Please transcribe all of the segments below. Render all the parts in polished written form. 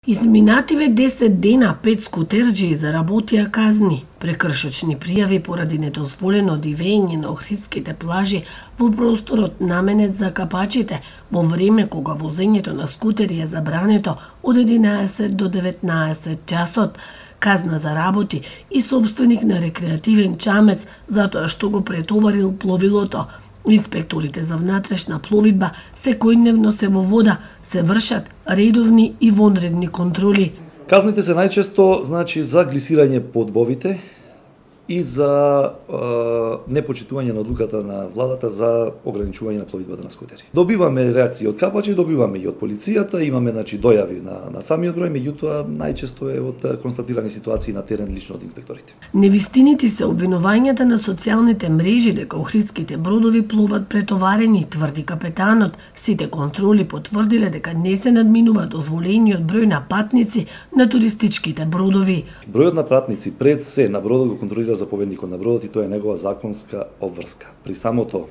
Изминативе 10 дена 5 скутерџии заработија казни, прекршочни пријави поради недозволено дивење на охридските плажи во просторот наменет за капачите во време кога возењето на скутери е забрането од 11 до 19 часот. Казна за работи и собственик на рекреативен чамец затоа што го претоварил пловилото. Инспекторите за внатрешна пловидба секојдневно се во вода, се вршат редовни и вонредни контроли. Казните се најчесто за глисирање по одбовите и за непочитување на одлуката на владата за ограничување на пловидбата на скутери. Добиваме реакции од капачи, добиваме и од полицијата, имаме дојави на самиот број, меѓутоа најчесто е од констатирани ситуации на терен лично од инспекторите. Невистините се обвинувањата на социјалните мрежи дека охридските бродови плуват претоварени, тврди капетанот. Сите контроли потврдиле дека не се надминува дозволениот број на патници на туристичките бродови. Бројот на патници пред се на бродот го контролира заповедникот на бродот и тоа е негова законска обврска. При самото,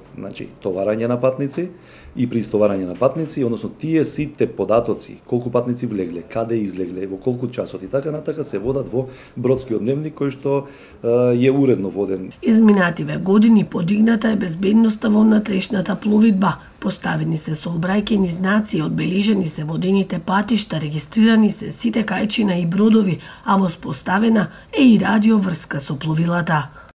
товарање на патници и при истоварање на патници, односно тие сите податоци, колку патници влегле, каде излегле, во колку часот и така натака се водат во бродскиот дневник кој што е уредно воден. Изминативе години подигната е безбедноста во внатрешната пловидба. Поставени се сообраќајни знаци, одбележени се водените патишта, регистрирани се сите кајчина и бродови, а воспоставена е и радиоврска со пловилата.